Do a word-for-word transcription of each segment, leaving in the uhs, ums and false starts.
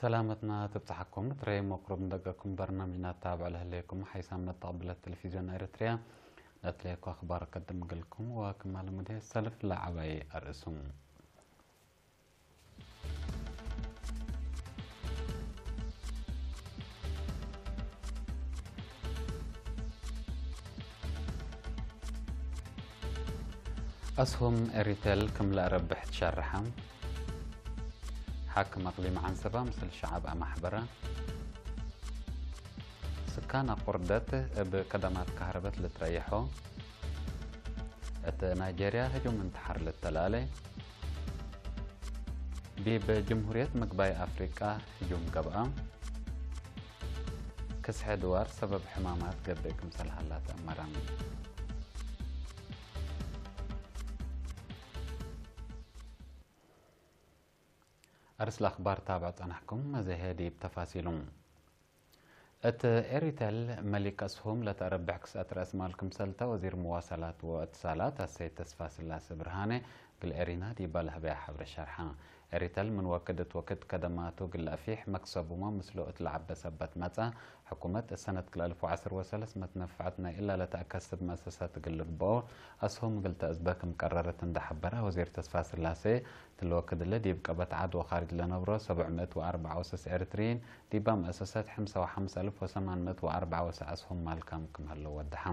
ሰላመትና ትብጽሐኩም። ትረይ መቅሩብ እንደገኩም በርናምጅና ታብዕ ለህሌኩም ሓይሳም መተቅብለት ቴሌቪዝዮን ኤረትርያ ለትሌኮ አኽባር ቀድም እግልኩም ወክማል ሙድሄ ሰልፍ ለዐባይ አርእሱም። አስሁም ኤሪቴል ክም ለአረብሕ ትሸርሐ። ሓክም አቅሊም ዐንሰባ ምስል ሸዐብ አማሕበረ። ስካን አቁርደት እብ ከደማት ከህረበት ልትረየሖ። እት ናይጄርያ ህጁም እንተሐር ልተላሌ። ዲብ ጅምሁርየት ምግባይ አፍሪቃ ህጁም ገብአ። ክስሐ ድዋር ሰበብ ሕማማት ገብእ ክምሰል ሀላ ተአመረ። አርስ ለአኽባር ታብዕ ጸናሕኩም፣ መዘሄ ዲብ ተፋሲሉ። እት ኤሪቴል መሊክ አስሁም ለተአረብሕ ክስአት ረአስ ማል ክምሰልተ ወዚር መዋሰላት ወእትሳላት አሰይድ ተስፋስላሴ ብርሃኔ እግል ኤሪና ዲባ ለህበያ ሐብሬ ሸርሐ። ኤሪቴል ምን ወክድ እት ወክድ ከደማቱ እግል ለአፊሕ መክሰቡመ ምስሉ እት ለዐበ ሰበት መጽአ፣ ሕኩመት እሰነት ክልኤ አልፍ ወዐስር ወሰለስ መትነፈዐት ናይ እላ ለተአከስብ መአሰሰት እግል ልግበኦ አስሁም እግል ተአዝበ ክም ቀረረት እንደ ሐበረ ወዚር ተስፋስላሴ፣ እትሊ ወክድ እሊ ዲብ ቀበት ዐድ ወካርጅ ለነብሮ ሰብዕ ምእት ወአርበዕ ወሰስ ኤሪትርይን ዲባ መአሰሰት ሕምሰ ወሐምስ አልፍ ወሰማን ምእት ወአርበዕ ወሰስ አስሁም ማልካም ክም ሀለው ወደሐ።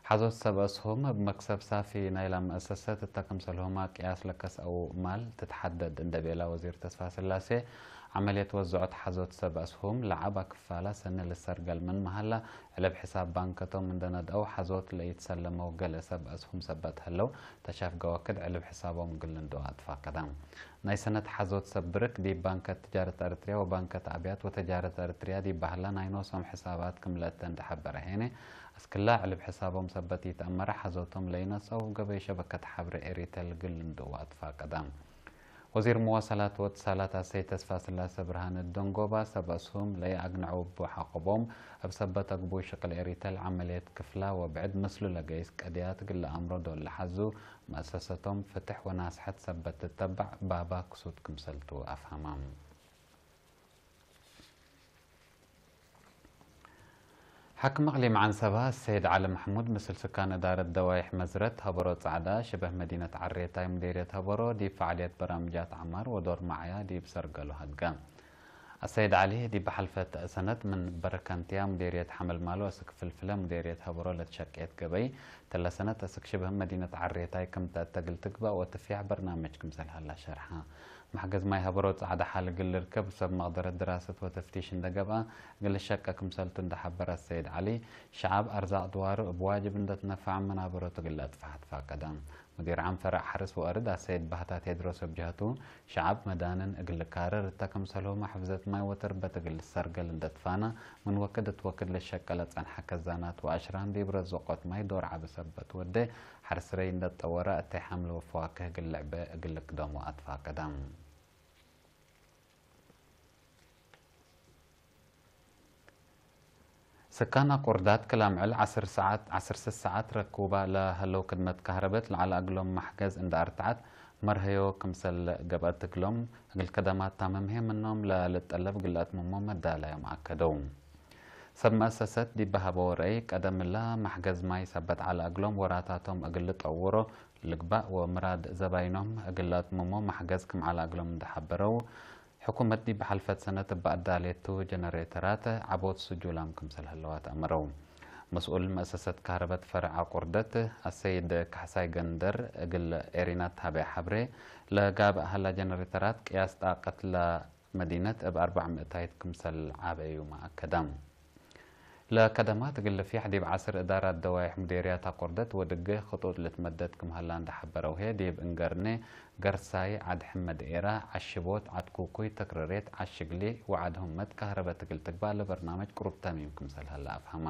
ሐዞት ሰብ አስሁም እብ መክሰብ ሳፊ ናይላ መአሰሰት እተ ክምሰልሁመ ቅያስ ለከስአው ማል ትትሐደድ እንደ ቤላ ወዚር ተስፋስላሴ፣ ዐመልየት ወዝዖት ሐዞት ሰብ አስሁም ለዐባ ክፋላ ሰኒ ልሰርገል ምንመ ሀላ፣ ዕልብ ሕሳብ ባንከቶም እንደ ነድአው ሐዞት ለኢትሰለመው ገሌ ሰብ አስሁም ሰበት ሀለው፣ ተሻፍገ ወክድ ዕልብ ሕሳቦም እግል ልንድኦ አትፋቀደ። ናይ ሰነት ሐዞት ሰብ ብርክ ዲብ ባንከት ትጃረት ኤረትርያ ወባንከት አብያት ወተጃረት ኤረትርያ ዲብ በህላ ናይ ኖሶም ሕሳባት ክም ለእተ እንደ ሐበረ ሄነ፣ አስክላ ዕልብ ሕሳቦም ሰበት ኢተአመረ ሐዞቶም ለኢነስአው እብ ገበይ ሸበከት ሐብሬ ኤሪቴል እግል ልንድኡ አትፋቀደ። ወዚር መዋሰላት ወእትሳላት አሰይድ ተስፋስላሰ ብርሃነ ደንጎባ፣ ሰብ አስሁም ለኢአግነዐው እቡ ሐቆቦም፣ እብ ሰበት አግቡይ ሽቅል ኤሪቴል ዐመልየት ክፍላ ወብዕድ ምስሉ ለገይስ ቀድያት እግል ለአምሮ ዶል ለሐዙ፣ መአሰሰቶም ፍትሕ ወናስሐት ሰበት ትተበዕ ባባ ክሱት ክምሰልቱ አፍሀመ። ሓክም እቅሊም ዐንሰባ ሰይድ ዐሊ መሕሙድ ምስል ስካን እዳረት ደዋይሕ መዝረት ሀበሮ ጸዕዳ ሽበህ መዲነት ዐሬታይ ሙዴርየት ሀበሮ ዲብ ፈዓልየት በራምጃት ዐማር ወዶር መዓያ ዲብ ሰርገሉ ሀድገ። አሰይድ ዐሊ ዲብ ሐልፈት ሰነት ምን በረከንትያ ሙዴርየት ሐመልማሎ እስክ ፍልፍለ ሙዴርየት ሀበሮ ለትሸቄት ገበይ፣ ተለ ሰነት እስክ ሽበህ መዲነት ዐሬታይ ክም ተአተግል ትግባእ ወትፍያሕ በርናምጅ ክምሰል ሀላ ሸርሐ። መሕገዝ ማይ ሀበሮ ጸዕደ ሐል እግል ልርከብ ሰብ መቅደረት ድራሰት ወተፍቲሽ እንደ ገብአ እግል ልሸቀ ክምሰልቱ እንደ ሐበረ አሰይድ ዐሊ፣ ሸዐብ አርዛቅ ድዋሩ እብ ዋጅብ እንደ ትነፈዐ መናበሮቱ እግል ለአጥፍሐ ትፋቀደ። ሙዲር ዓም ፈረዕ ሐርስ ወአርድ አሰይድ ባህታ ቴድሮስ እብ ጀህቱ፣ ሸዐብ መዳንን እግል ልካረር እተ ክምሰልሁመ ሕፍዘት ማይ ወተርበት እግል ልሰርገል እንደ ትፋነ፣ ምን ወክድ እት ወክድ ለሸቀ ለጸንሐ ከዛናት ወአሽራን ዲብ ረዝቆት ማይ ዶር ዐቢ ሰበት ወዴ፣ ሐርስ ረይ እንደ ትጠወረ፣ እተይ ሐምል ወፈዋክህ እግል ልዕበ እግል ልክደሞ አትፋቀደ። ስካን አቁርዳት ክል አምዕል ዐስር ሰዓት፣ ዐስር ስስ ሰዓት ረኩባ ለሀለው ክድመት ካህረበት ለዐለ እግሎም መሕገዝ እንደ አርትዐት መርሀዮ ክምሰል ገብአት እግሎም፣ እግል ከደማት ታምም ህዬ ምኖም ለልጠለብ እግል ለአትምሞ መዳላዮም አከደው። ሰብ መአሰሰት ዲብ ሀበው ረአይ፣ ቀደም እለ መሕገዝ ማይ ሰበት ዐለ እግሎም ወራታቶም እግል ልጠውሮ ልግባእ ወምራድ ዘባይኖም እግል ለአትምሞ መሕገዝ ክም ዐለ እግሎም እንደ ሐበረው፣ ሕኩመት ዲብ ሐልፈት ሰነት እበ አዳሌቱ ጀነሬተራት ዐቦት ስጁላም ክምሰል ህለዋት አመረው። መስኡል መአሰሰት ካህረበት ፈርዕ አቁርደት አሰይድ ካሕሳይ ገንደር እግል ኤሪና ተሀበየ ሐብሬ፣ ለጋብእ ሀላ ጀነሬተራት ቅያስ ጣቀት ለ መዲነት እብ አርበዕ ምእታይት ክምሰል ዐበዩመ አከደ። ለከደማት እግል ልፍያሕ ዲብ ዐስር እዳራት ደዋይሕ ሙዴርያት አቆርደት ወድጌ ክጡጥ ልትመደድ ክም ሀላ እንደ ሐበረው ህዬ፣ ዲብ እንገርኔ፣ ገርሳይ፣ ዐድ ሕመድ ኤራ፣ ዐሽቦት፣ ዐድ ኩኩይ፣ ተክረሬት፣ ዐሽግሊ ወዐድ ሁመት ካህረበት እግል ትግባእ ለበርናመጅ ቅሩብ ተሚም ክምሰል ሀለ አፍሀመ።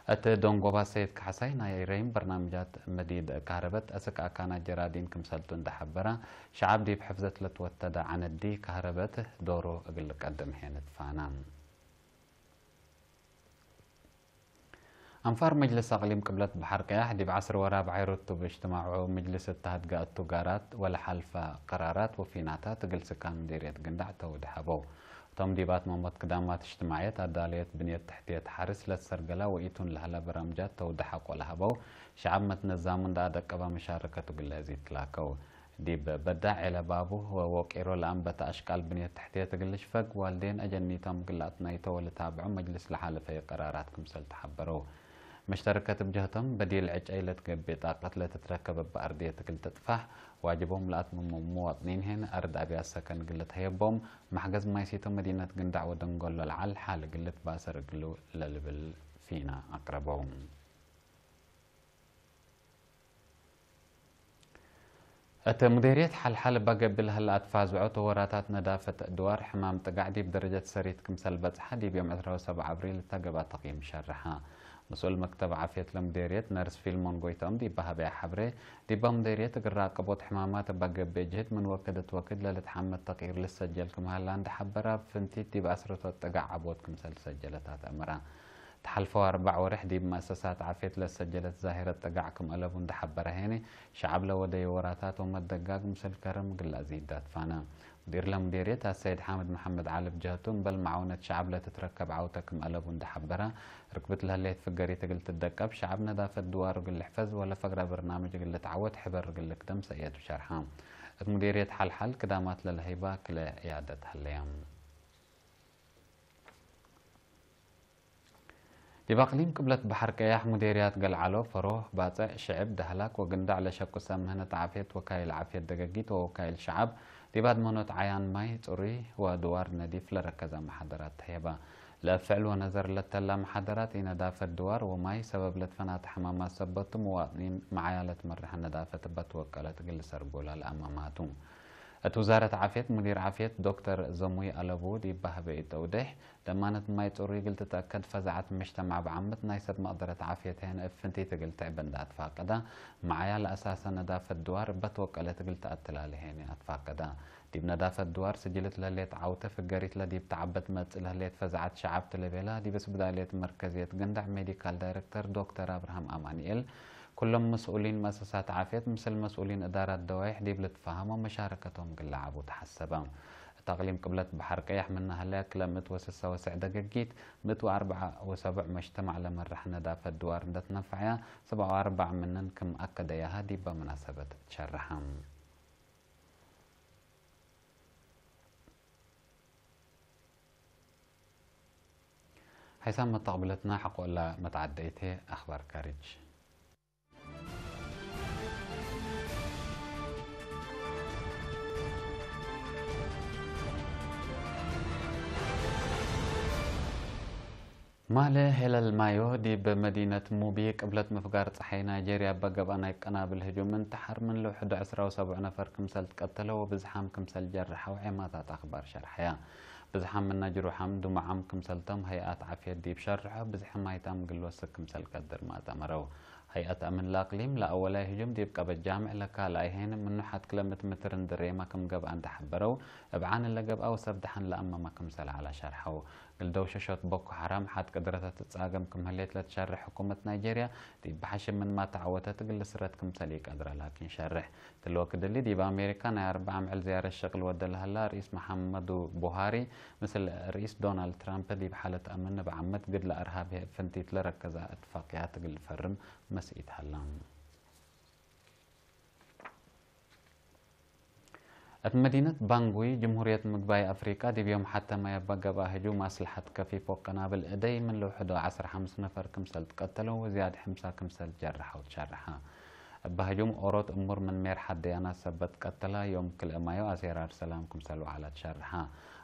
እት ደንጎባ ሰይድ ካሕሳይ ናይ ረይም በርናምጃት መዲድ ካህረበት አስክ አካናት ጀራዲን ክምሰልቱ እንደ ሐበረ፣ ሸዐብ ዲብ ሕፍዘት ለትወተደ ዐነዲ ካህረበት ዶሩ እግል ልቀድም ሄን ትፋነ። አንፋር መጅልስ አቅሊም ቅብለት በሐር ቀያሕ ዲብ ዐስር ወራብዓይ ርቱብ እጅትማዑ፣ ምጅልስ እተ ሀድገ እቱ ጋራት ወለሐልፈ ቀራራት ወፊናታት እግል ስካን ምዴርየት ግንዳዕ ተውድ ሀበው። ቶም ዲብ አትመሞት ክዳማት እጅትማዕየት፣ አዳለየት ብንየት ተሕትየት ሐርስ ለትሰርገላ ወኢቱን ለሀላ በራምጃት ተውደሐቆ ለሀበው ሸዐብ መትነዛሙ እንደ አደቀባ መሻረከቱ ግለ ዚትላከው። ዲብ በዳዕ ዔለ ባቡ ወወቂሮ ለአንበተ አሽቃል ብንየት ተሕትየት እግል ልሽፈግ ዋልዴን አጀኒቶም እግል ለአትናይቶ ወልታብዖ መጅልስ ለሓለፈየ ቀራራት ክምሰል ተሐበረው። መሽተረከት እብ ጀህቶም በዲል ዕጨይ ለትገብእ ጣቀት ለትትረከብ እብ አርድየት እግል ትጥፋሕ ዋጅቦም ለአትምሙ ሙዋጥኒን ህን አርድ አብያት ሰከን እግል ልትሀየቦም መሕገዝ ማይሲቶ መዲነት ግንዳዕ ወደንጎሎ ለዐል ሓል እግል ልትባሰር እግሉ ለልብል ፊና አቅረበው። እት ሙዴርየት ሐልሐል እባ ገብእ ለህለ አትፋዝዖ ተወራታት ነዳፈት ድዋር ሕማም ጥጋዕ ዲብ ደረጀት ሰሪት ክምሰል በጽሐ ዲብ ዮም ዕስራ ወሰብዕ አብሪል እተ ገብአ ተቅይም ሸርሐ። መስኡል መክተብ ዓፍየት ለሙዴርየት ነርስ ፊልሞን ጎይትኦም ዲብ በሀበያ ሐብሬ፣ ዲባ ሙዴርየት እግል ራቅቦት ሕማማት እባ ገብእ ጅህድ ምን ወክድ እት ወክድ ለልትሐመድ ተቅይር ልሰጀል ክም ሀላ እንደ ሐበረ፣ እብ ፍንቲት ዲብ አስረቶት ጥጋዕ ዐቦት ክምሰል ትሰጀለት አትአመረ። ተሐልፈው አርበዕ ወሬሕ ዲብ መአሰሳት ዓፍየት ለሰጀለት ዛሂረት ጥጋዕ ክም አለቡ እንደ ሐበረ ሄኒ፣ ሸዐብ ለወደዩ ወራታት ወመደጋግ ምስል ከርም እግል ለአዚድ ዳትፋነ። ሙዲር ለሙዴርየት አሰይድ ሓምድ መሐመድ ዐሊ እብ ጀህቱ፣ እምበል መዓውነት ሸዐብ ለትትረከብ ዐውተ ክም አለቡ እንደ ሐበረ፣ ርክብት ለህሌት ፍገሪት እግል ትደቀብ፣ ሸዐብ ነዳፈት ድዋሩ እግል ልሕፈዝ ወለፈግረ በርናምጅ እግል ልትዐወት ሕበር እግል ልክደም ሰእየቱ ሸርሐ። እት ሙዴርየት ሐልሐል ክዳማት ለለህይባ ክለ ዕያደት ሀለየ። ዲብ አቅሊም ቅብለት በሐር ቀያሕ ሙዴርያት ገልዓሎ፣ ፈሮህ፣ ባጽዕ፣ ሽዕብ፣ ደህላክ ወግንዳዕ ለሸቁ ሰብ ምህነት ዓፍየት፣ ወካይል ዓፍየት ደገጊት ወወካይል ሸዐብ ዲብ አድመኖት ዓያን ማይ ጽሩይ ወድዋር ነዲፍ ለረከዘ መሓደራት ተህየበ። ለእብ ፍዕል ወነዘር ለተላ መሓደራት፣ ኢነዳፈት ድዋር ወማይ ሰበብ ለትፈናተ ሕማማት ሰበት ቱ፣ ሙዋጥኒን መዓያ ለትመርሐ ነዳፈት እበ ትወቀለት እግል ልሰርጎላ ለአመማቱ። እት ውዛረት ዓፍየት፣ ሙዲር ዓፍየት ዶክተር ዘሙይ አለቡ ዲብ በሀበ ኢተውዴሕ፣ ደማነት ማይ ጽሩይ እግል ትትአከድ ፈዛዐት ምጅተማዕ በዓምት ናይ ሰብ መቅደረት ዓፍየት ህን እብ ፍንቲት እግል ትዕበ እንደ አትፋቀደ፣ መዓያ ለአሳሰ ነዳፈት ድዋር እበ ትወቀለት እግል ተአትላሌ ሄኒ አትፋቀደ። ዲብ ነዳፈት ድዋር ስጅልት ለህሌት ዐውተ ፍገሪት ለዲብ ተዐበት መጽእ ለህሌት ፈዛዐት ሸዐብ ትለቤላ ዲብ እስብዳልየት መርከዝየት ግንዳዕ ሜዲካል ዳይረክተር ዶክተር አብርሃም አማንኤል፣ ኩሎም መስኡሊን መአሰሳት ዓፍየት ምስል መስኡሊን እዳራት ደዋይሕ ዲብ ልትፋሀም ወመሻረከቶም እግል ለዓቡ ተሐሰበ። እት አቅሊም ቅብለት በሐር ቀያሕ ምነ ሀለያ ክለ ምእት ወስሳ ወሰዕ ደገጊት፣ ምእት ወአርበዕ ወሰቡዕ መጅተማዕ ለመርሐ ነዳፈት ድዋር እንደ ትነፈዐያ፣ ሰብዓ ወአርበዕ ምንን ክም አከደያሀ ዲበ መናሰበት ትሸረሐ። ሐይሳም መተቅብለትና ሐቆ እለ መትዓደይቴ አክባር ካርጅ። ማለ ሄለል ማዮ፣ ዲብ መዲነት ሙቢ ቅብለት ምፍጋር ጸሓይ ናይጄርያ እበ ገብአ ናይ ቀናብል ህጁም እንተሐር፣ ምን ለውሕዱ ዕስራ ወሰቡዕ ነፈር ክምሰል ትቀተለ ወብዝሓም ክምሰል ጀርሐው ዔማታት አክባር ሸርሐያ። ብዝሓም ምነ ጅሩሓም ድሙዓም ክምሰል ቶም ሀይአት ዓፍየት ዲብ ሸርሖ፣ ብዝሒ ማይታም እግል ወስክ ክምሰል ቀድር ማጠመረው። ሀይአት አምን ለአቅሊም ለአወላይ ህጁም ዲብ ቀበት ጃምዕ ለካልኣይ ሄን ምኑ ሐት ክለ ምእት ምትር እንድሬመ ክም ገብአ እንደ ሐበረው፣ እብ ዓን ለገብአ ወሰብ ደሐን ለአመመ ክምሰል ዐለ ሸርሐው። እግል ደውሸሾት ቦኮ ሐራም ሐት ቅድረተ ትጻገም ክም ህሌት ለትሸርሕ ሕኩመት ናይጄርያ፣ ዲብ በሐሽም ምንማ ተዐወተት እግል ልስረት ክምሰል ኢቀድረ ላኪን ሸርሕ። እትሊ ወክድ እሊ፣ ዲብ አሜሪካ ናይ አርበዕ አምዕል ዝያረት ሸቅል ወደ ለሀላ ርኢስ መሐመዱ ቡሃሪ፣ ምስል ርኢስ ዶናልድ ትራምፕ ዲብ ሓለት አምን እብ ዓመት ግድለ አርሃብ ህይ እብ ፍንቲት ለረከዘ እትፋቅያት እግል ልፈርም መስኢት ሀላ። እት መዲነት ባንጉይ፣ ጅምሁርየት ምግባይ አፍሪቃ፣ ዲብ ዮም ሐተ ማይ እበ ገብአ ህጁም አስለሐት ከፊፍ ወቀናብል እደይ ምን ለውሕዶ ዐስር ሐምስ ነፈር ክምሰል ትቀተለው ወዝያድ ሕምሳ ክምሰል ጀርሐው ትሸርሐ። እበ ህጁም ኦሮት እሙር ምን ሜርሐት ደያናት ሰበት ቀተላ፣ ዮም ክልኤ ማዮ አሴራር ሰላም ክምሰል ወዐለ ትሸርሐ።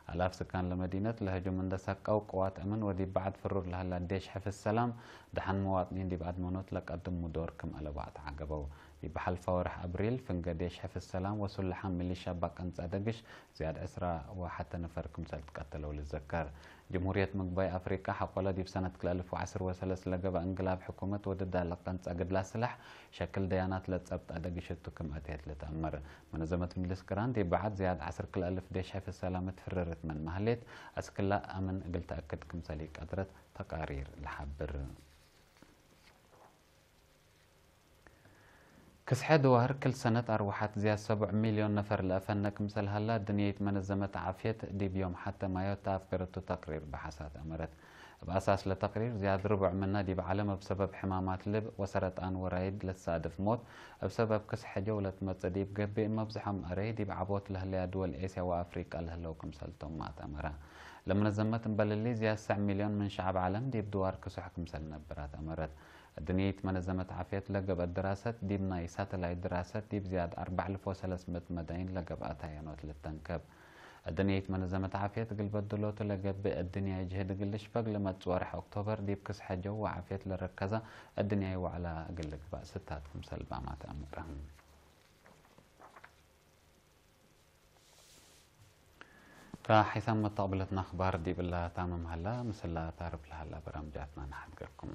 አላፍ ስካን ለመዲነት ለህጁም እንደ ሰቀው፣ ቅዋት አምን ወዲብ በዐድ ፍሩር ለሀላ ዴሽ ሕፍዝ ሰላም፣ ደሐን መዋጥኒን ዲብ አድመኖት ለቀድሙ ዶር ክም አለቡ አትዓገበው። ዲብ ሐልፈ ወርሕ አብሪል፣ ፍንገ ዴሽ ሕፍዝ ሰላም ወሱልሓም ሚሊሻ እበ ቀንጸ ደግሽ፣ ዝያድ ዕስራ ወሐተ ነፈር ክምሰል ትቀተለው ልዘከር። ጅምሁርየት ምግባይ አፍሪቃ ሐቆለ ዲብ ሰነት ክልኤ አልፍ ወዐስር ወሰለስ ለገብአ እንቅላብ ሕኩመት ወድዳ ለቀንጸ ግድላ ስላሕ ሸክል ደያናት ለጸብጠ ደግሽ እቱ ክም አቴት ልትአመር። መነዘመት ምጅልስ ቅራን ዲብ በዐድ ዝያድ ዐስር ክልኤ አልፍ ዴሽ ሕፍዝ ሰላም ትፍርርት ምንመ ህሌት፣ አስክላ አምን እግል ተአክድ ክምሰል ኢቀድረት ተቃሪር ለሐብር። ክስሐ ድዋህር ክል ሰነት አርወሐት ዝያድ ሰቡዕ ሚልዮን ነፈር ለአፈነ ክምሰል ሀላ፣ ድንየይት መነዘመት ዓፍየት ዲብ ዮም ሐተ ማዮት ተአፍገረቱ ተቅሪር በሐሳት አመረት። እብ አሳስ ለተቅሪር፣ ዝያድ ርቡዕ ምነ ዲብ ዐለም እብ ሰበብ ሕማማት ልብ ወሰረጣን ወራይድ ለትሳድፍ ሞት፣ እብ ሰበብ ክስሐ ጀው ለትመጽእ ዲብ ገብእ፣ መብዝሖም አረይ ዲብ ዐቦት ለህለያ ድወል ኤስያ ወአፍሪቃ ለህለው ክምሰል ቶም አትአመረ። ለመነዘመት እምበል እሊ፣ ዝያድ ሰዕ ሚልዮን ምን ሸዐብ ዐለም ዲብ ድዋር ክሱሕ ክምሰል ነብር አትአመረት። እድንየይት መነዘመት ዓፍየት ለገብአት ድራሰት፣ ዲብ ናይ ሳተላይት ድራሰት፣ ዲብ ዝያድ አርበዕ አልፍ ወሰለስ ምእት መዳይን ለገብአት ሀያኖት ልተንከብ። እድንየይት መነዘመት ዓፍየት፣ እግል በድሎቱ ለገብእ እድንያይ ጅህድ እግል ልሽፈግ፣ ለመጽእ ወርሕ ኦክቶበር ዲብ ክስሐ ጀው ወዓፍየት ለረከዘ እድንያይ ወዕላ እግል ልግባእ ስታት ክምሰል ባማት አምረ። ከሐይሳም መተቅብለትና አኽባር ዲብ እላ ታምም ሀላ፣ ምስላ ታርፍ ለሀላ በራምጃትና ነሐድገኩም።